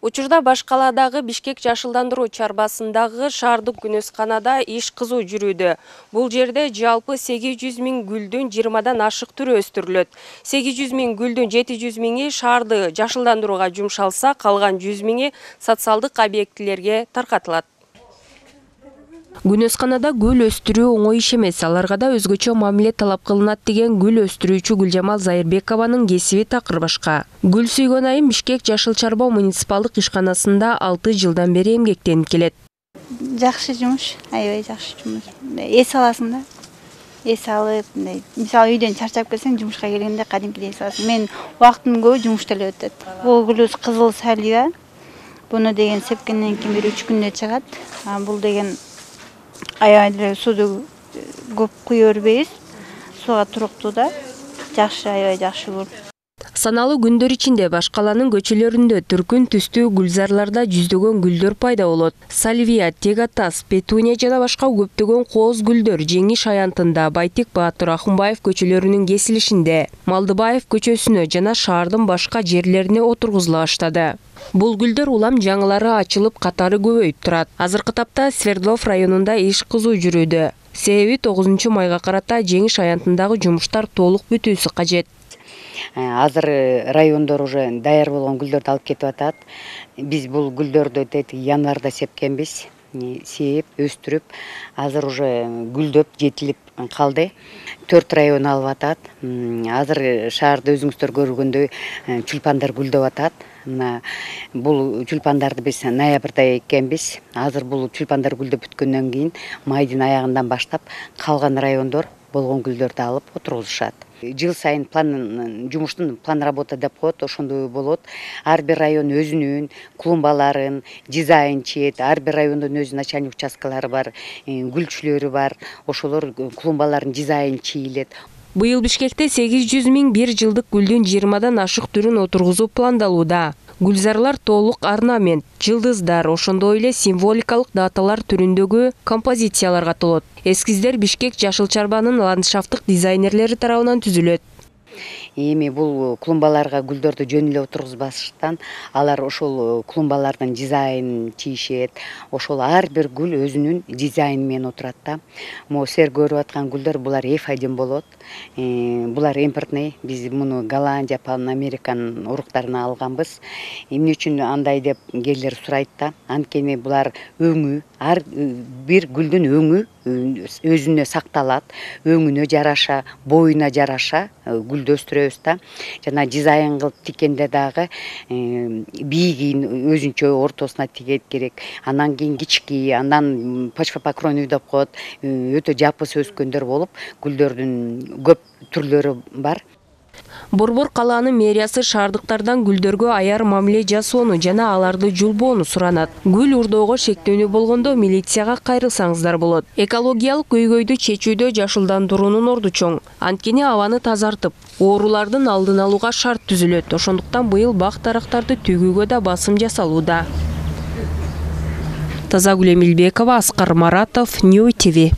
Учурда Баш калаадагы Бишкек жашылдандыруу чарбасындагы шаардык күнөсканада иш кызуу жүрүүдө. Бул жерде жалпы 800 000 гүлдүн 20дан ашык түрү өстүрүлөт. 800 000 гүлдүн 700 000 шаарды жашылдандырууга жумшалса, калган 100 000 социалдык объектилерге таркатылат. Күнөсканада гүл өстүрүү оңой иш эмес, аларга да өзгөчө мамиле талап кылынат деген гүл өстүрүүчү Гүлжамал Зайырбекованын кесиби такыр башка. Гүл сүйгөн айым Бишкек жашыл чарба муниципалдык ишканасында 6 жылдан бери эмгектенип келет. Жакшы жумуш, аябай жакшы жумуш. Эс аласың да. Эс алып, мисалы үйдөн чарчап келсең, жумушка келгенде кадимкидей эс аласың. Мен убактым көбү жумушта эле өтөт. Бул гүлүбүз кызыл салвия. Буну деген сепкенден кийин 1-3 күндө чыгат. Бул деген аябай деле сууду көп куя бербейбиз. Сууга туруктуу да. Жакшы, аябай жакшы гүл. Саналуу күндөр ичинде Баш каланын көчөлөрүндө түркүн түстүү гүлзарларда жүздөгөн гүлдөр пайда болот. Сальвия, тегатас, петуния жана башка көптөгөн кооз гүлдөр Жеңиш аянтында Байтек Баатыр Ахунбаев көчөлөрүнүн кесилишинде, Малдыбаев көчөсүнө жана шаардын башка жерлерине отургузула баштады. Бул гүлдөр улам жаңылары ачылып, катары көбөйүп турат. Азыркы тапта Свердлов районунда иш кызуу жүрүүдө. Себеби 9 майга карата Жеңиш аянтындагы жумуштар толук бүтүүсү кажет. Азыр райондор уже даяр болгон гүлдөрдү алып кетип атат. Биз бул гүлдөрдү январда сепкенбиз. Сээп, өстүрүп, азыр уже гүлдөп, жетилип калды. 4 район алып атат. Азыр шаарда өзүңүздөр көргөндөй чулпандар гүлдөп атат. Бул чулпандарды биз ноябрда эккенбиз. Азыр бул чулпандар гүлдөп бүткөндөн кийин майдын аягынан баштап калган райондор болгон гүлдөрдү алып отургузушат. Жыл сайын жумуштун план работа деп коет, ошондой болот. Ар бир район өзүнүн клумбаларын дизайн чийет. Ар бир райондун өзүнүн начальник участкалары бар, гүлчүлөрү бар. Ошолор клумбаларын дизайн чийилет. Быйыл Бишкекте 800 000 бир жылдык гүлдүн 20дан ашык түрүн отургузуу пландалууда. Гүлзарлар толук орнамент, жылдыздар, ошондой эле символикалык даталар түрүндөгү композициялар катылот. Эскиздер Бишкек жашыл чарбанын ландшафттык дизайнерлери тарабынан түзүлөт. Эми бул клумбаларга гүлдөрдү жөн эле отургузбаштан, алар ошол клумбалардын дизайнын чийишет. Ошол ар бир гүл өзүнүн дизайны менен отурат да. Могу силер көрүп аткан гүлдөр булар F1 болот. Булар импортный. Биз муну Голландия, Пан Американын уруктарынан алганбыз. Эмне үчүн андай деп келдер сурайт да. Анткени булар өңү, ар бир гүлдүн өңү өзүнө сакталат, өңүнө жараша, боюна жараша гүлдү өстүрөбүз да. Жана дизайн кылып тикенде дагы бийигин өзүнчө ортосуна тигет керек. Анан кийин кички, андан почвопокровный деп коет, өтө жапыс өскөндөр болуп, гүлдөрдүн көп түрлөрү бар. Борбор калаанын мэриясы шаардыктардан гүлдөргө аяр мамиле жасоону жана аларды жулбоону суранат. Гүл урдоого шектөөнү болгондо милицияга кайрылсаңыздар болот. Экологиялык көйгөйдү чечүүдө жашылдандыруунун орду чоң. Анткени абаны тазартып, оорулардын алдын алууга шарт түзүлөт. Ошондуктан быйыл бак дарактарды төгүүгө да басым жасалууда. Тазагүл Эмилбекова, Аскар Маратов, Нью ТВ.